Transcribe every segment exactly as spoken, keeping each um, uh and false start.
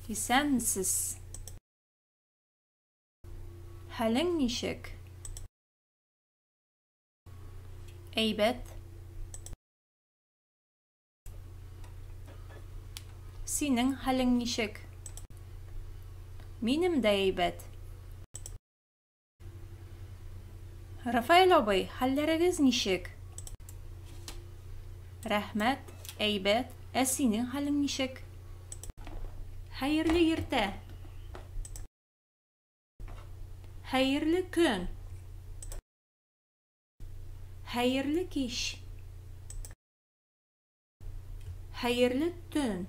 Исәнмесез. Хәлең ничек? Әйбәт. Синең хәлең ничек? Минем дә әйбәт. Рафаэль абый, хәлләрегез ничек? Рәхмәт, әйбәт. Ә синең хәлең ничек? Хәерле иртә. Хәерле көн. Хәерле кич. Хәерле төн.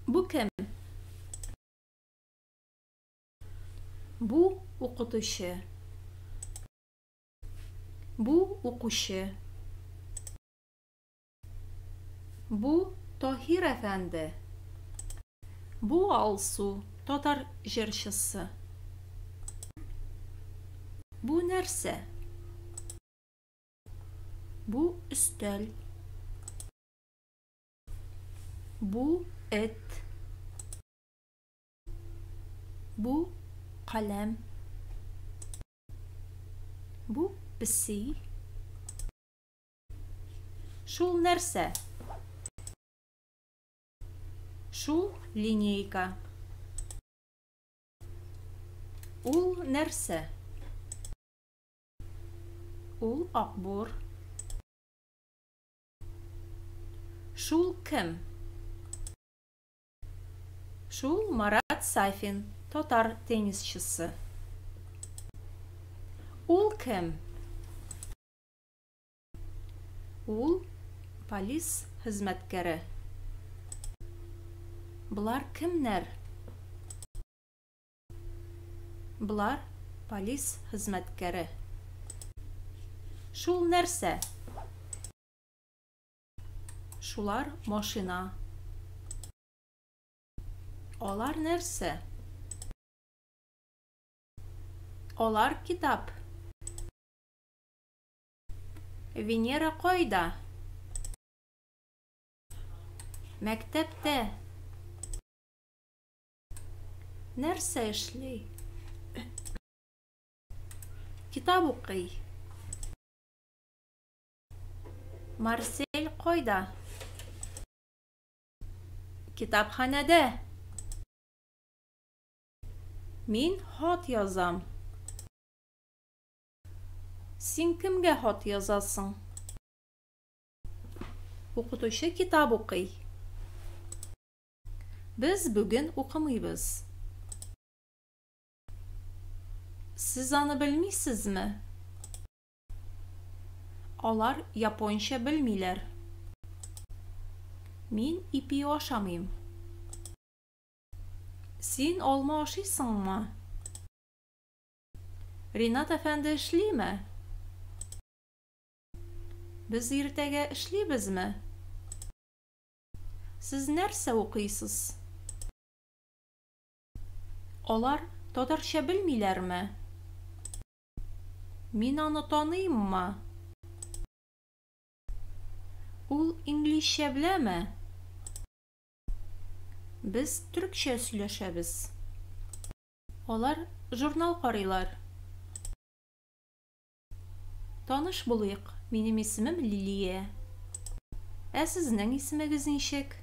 Бу кем? Бу укытучы. Бу укучы. Бу Таһир әфәнде. Бу Алсу, татар җырчысы. Бу нәрсә? Бу өстәл. Бу эт. Бу каләм. Бу песи. Шул нәрсә? Шул линейка. Ул нәрсә? Ул акбур. Шул кем? Шул Марат Сафин, татар теннисчысы. Ул кем? Ул полис хезмәткәре. Болар кемнәр? Болар полис хезмәткәре. Шул нәрсә? Шулар машина. Алар нәрсә? Алар китап. Венера кайда? Мәктәптә. Нәрсә эшли? Китап укый. Марсель кайда? Китапханәдә. Мин хат язам. Син кемгә хат язасың? Укытучы китап укый. Без бүген укымыйбыз. Сез аны белмисезме? Алар японча белмиләр. Мин ипи ашамыйм. Син алма ашыйсыңмы? Ринат әфәнде эшлиме? Без иртәгә эшлибезме? Сез нәрсә укыйсыз? Алар татарча белмиләрме? Мин аны таныйммы? Ул инглизчә беләме? Без төркчә сөйләшәбез. Алар журнал карыйлар. Таныш булыйк, минем исемем Лилия. Ә сезнең исемегез ничек?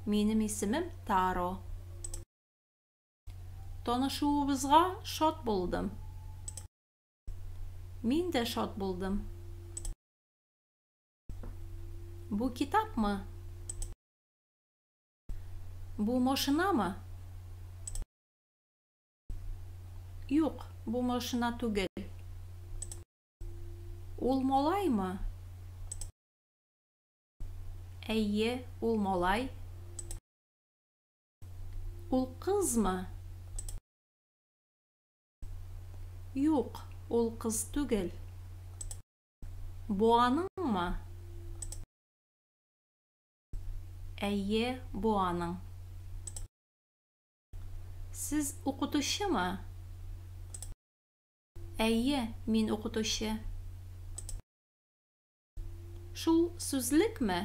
Минем исемем Таро. Танышуыбызга шат булдым. Мин дә шат булдым. Бу китапмы? Бу машинамы? Юк, бу машина түгел. Ул малаймы? Әйе, ул малай. Ул кызмы? Юк, ул кыз түгел. Бу аныңмы? Әйе, бу аның. Сез укытучымы? Әйе, мин укытучы. Шул сүзлекме?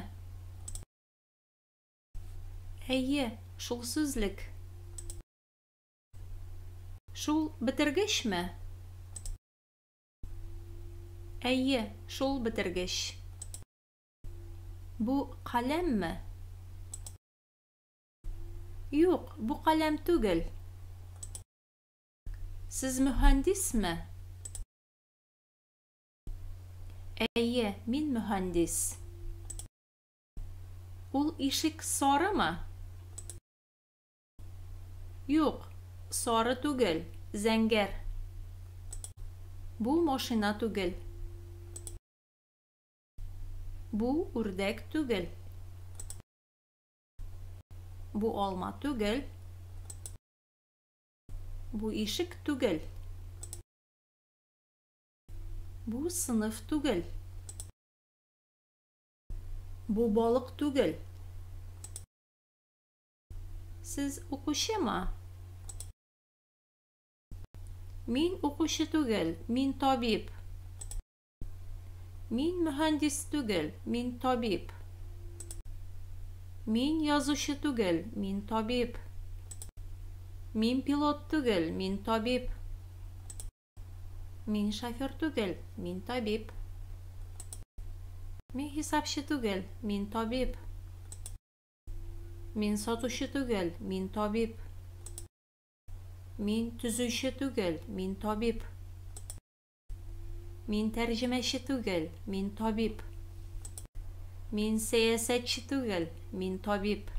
Әйе, шул сүзлек. Шул бетергечме? Әйе, шул бетергеч. Бу каләмме? Юк, бу каләм түгел. Сез мөһәндисме? Әйе, мин мөһәндис. Ул ишек сарымы? Юк, сары түгел, зәңгәр. Бу машина түгел. Бу үрдәк түгел. Бу алма түгел. Бу ишек түгел. Бу сыныф түгел. Бу балык түгел. Сез укучымы? Мин укучы түгел, мин табиб. Мин мөһәндис түгел, мин табиб. Мин язучы түгел, мин табиб. Мин пилот түгел, мин табиб. Мин шофер түгел, мин табиб. Мин хисапчы түгел, мин табиб. Мин сатучы түгел, мин табиб. Мин төзүче түгел, мин табиб. Мин тәрҗемәче түгел, мин табиб. Мин сәясәтче түгел, мин табиб.